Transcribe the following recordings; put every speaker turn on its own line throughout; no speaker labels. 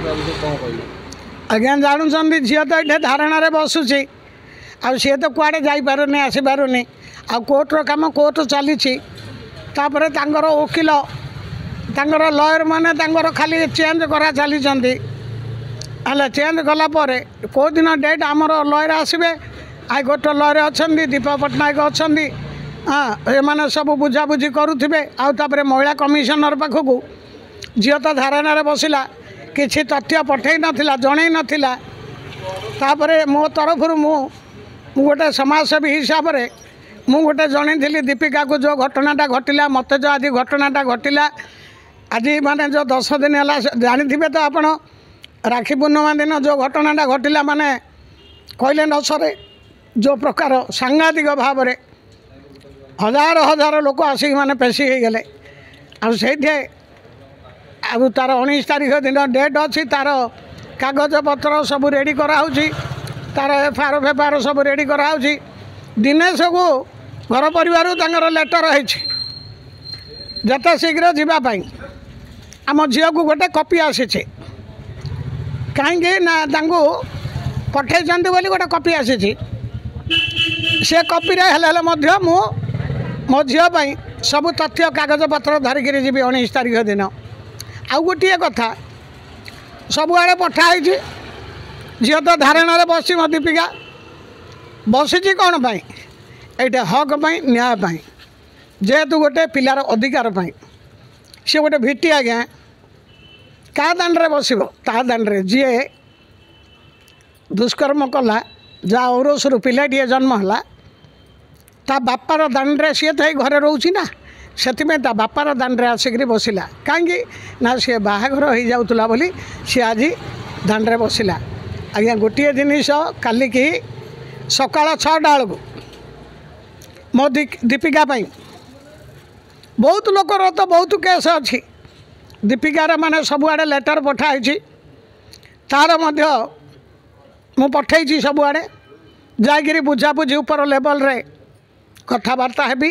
ତା ବିଷୟରେ କ'ଣ କହିବେ?
ଆଜ୍ଞା, ଜାଣୁଛନ୍ତି ଝିଅ ତ ଏଠି ଧାରଣାରେ ବସୁଛି, ଆଉ ସିଏ ତ କୁଆଡ଼େ ଯାଇପାରୁନି, ଆସିପାରୁନି, ଆଉ କୋର୍ଟର କାମ କୋର୍ଟ ଚାଲିଛି। ତାପରେ ତାଙ୍କର ଓକିଲ, ତାଙ୍କର ଲୟର୍ ମାନେ ତାଙ୍କର ଖାଲି ଚେଞ୍ଜ କରା ଚାଲିଛନ୍ତି। ହେଲେ ଚେଞ୍ଜ କଲା ପରେ କେଉଁ ଦିନ ଡେଟ୍ ଆମର ଲୟର୍ ଆସିବେ, ହାଇକୋର୍ଟର ଲୟର୍ ଅଛନ୍ତି, ଦୀପା ପଟ୍ଟନାୟକ ଅଛନ୍ତି, ହଁ, ଏମାନେ ସବୁ ବୁଝାବୁଝି କରୁଥିବେ। ଆଉ ତାପରେ ମହିଳା କମିଶନର ପାଖକୁ ଝିଅ ତ ଧାରଣାରେ ବସିଲା, କିଛି ତଥ୍ୟ ପଠେଇ ନଥିଲା, ଜଣେଇ ନଥିଲା। ତାପରେ ମୋ ତରଫରୁ ମୁଁ ଗୋଟେ ସମାଜସେବୀ ହିସାବରେ ମୁଁ ଗୋଟେ ଜଣେଇଥିଲି ଦୀପିକାକୁ, ଯେଉଁ ଘଟଣାଟା ଘଟିଲା, ମୋତେ ଯେଉଁ ଆଜି ଘଟଣାଟା ଘଟିଲା, ଆଜି ମାନେ ଯେଉଁ 10 ଦିନ ହେଲା ଜାଣିଥିବେ ତ ଆପଣ, ରାକ୍ଷୀ ପୂର୍ଣ୍ଣିମା ଦିନ ଯେଉଁ ଘଟଣାଟା ଘଟିଲା, ମାନେ କହିଲେ ନ ସରେ, ଯେଉଁ ପ୍ରକାର ସାଂଘାତିକ ଭାବରେ ହଜାର ହଜାର ଲୋକ ଆସିକି ମାନେ ପେଶି ହେଇଗଲେ। ଆଉ ସେଇଠି ଆଉ ତା'ର 19 ତାରିଖ ଦିନ ଡେଟ୍ ଅଛି, ତା'ର କାଗଜପତ୍ର ସବୁ ରେଡ଼ି କରାହେଉଛି, ତା'ର ଏଫ୍ ଆର୍ ଫେଫାର୍ ସବୁ ରେଡ଼ି କରାହେଉଛି। ଦିନେଶକୁ ଘର ପରିବାରରୁ ତାଙ୍କର ଲେଟର୍ ହେଇଛି ଯେତେ ଶୀଘ୍ର ଯିବା ପାଇଁ। ଆମ ଝିଅକୁ ଗୋଟେ କପି ଆସିଛି, କାହିଁକି ନା ତାଙ୍କୁ ପଠେଇଛନ୍ତି ବୋଲି ଗୋଟେ କପି ଆସିଛି। ସେ କପିରେ ହେଲେ ହେଲେ ମଧ୍ୟ ମୁଁ ମୋ ଝିଅ ପାଇଁ ସବୁ ତଥ୍ୟ କାଗଜପତ୍ର ଧରିକିରି ଯିବି 19 ତାରିଖ ଦିନ। ଆଉ ଗୋଟିଏ କଥା, ସବୁଆଡ଼େ ପଠା ହେଇଛି, ଝିଅ ତ ଧାରଣାରେ ବସିଛି, ମୋ ଦୀପିକା ବସିଛି କ'ଣ ପାଇଁ? ଏଇଟା ହକ୍ ପାଇଁ, ନ୍ୟାୟ ପାଇଁ, ଯେହେତୁ ଗୋଟେ ପିଲାର ଅଧିକାର ପାଇଁ। ସିଏ ଗୋଟେ ଭିଟି ଆଜ୍ଞା, କାହା ଦାଣ୍ଡରେ ବସିବ? ତା ଦାଣ୍ଡରେ ଯିଏ ଦୁଷ୍କର୍ମ କଲା, ଯାହା ଔରସରୁ ପିଲାଟିଏ ଜନ୍ମ ହେଲା, ତା ବାପାର ଦାଣ୍ଡରେ। ସିଏ ତ ଏଇ ଘରେ ରହୁଛି ନା, ସେଥିପାଇଁ ତା ବାପାର ଦାଣ୍ଡରେ ଆସିକରି ବସିଲା। କାହିଁକି ନା ସିଏ ବାହାଘର ହେଇଯାଉଥିଲା ବୋଲି ସିଏ ଆଜି ଦାଣ୍ଡରେ ବସିଲା। ଆଜ୍ଞା, ଗୋଟିଏ ଜିନିଷ, କାଲିକି ସକାଳ 6ଟା ବେଳକୁ ମୋ ଦୀପିକା ପାଇଁ ବହୁତ ଲୋକର ତ ବହୁତ କେସ୍ ଅଛି। ଦୀପିକାର ମାନେ ସବୁଆଡ଼େ ଲେଟର୍ ପଠା ହେଇଛି, ତା'ର ମଧ୍ୟ ମୁଁ ପଠେଇଛି ସବୁଆଡ଼େ। ଯାଇକିରି ବୁଝାବୁଝି ଉପର ଲେବଲ୍ରେ କଥାବାର୍ତ୍ତା ହେବି,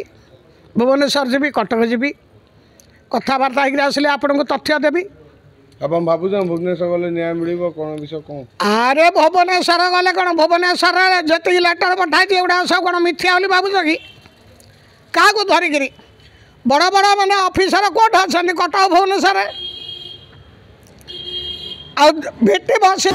ଭୁବନେଶ୍ୱର ଯିବି, କଟକ ଯିବି, କଥାବାର୍ତ୍ତା ହେଇକିରି ଆସିଲେ ଆପଣଙ୍କୁ ତଥ୍ୟ ଦେବି।
ଆପଣ ଭାବୁଛନ୍ତି ଭୁବନେଶ୍ୱର ଗଲେ ନ୍ୟାୟ ମିଳିବ? କ'ଣ ବିଷୟ କ'ଣ?
ଆରେ ଭୁବନେଶ୍ୱର ଗଲେ କ'ଣ, ଭୁବନେଶ୍ୱରରେ ଯେତିକି ଲେଟର୍ ପଠାଇଛି ଏଗୁଡ଼ାକ ସବୁ କ'ଣ ମିଥ୍ୟା ବୋଲି ଭାବୁଛ କି? କାହାକୁ ଧରିକିରି ବଡ଼ ବଡ଼ ମାନେ ଅଫିସର କୋଉଠି ଅଛନ୍ତି? କଟକ, ଭୁବନେଶ୍ୱରରେ। ଆଉ ଭିଟି ବସି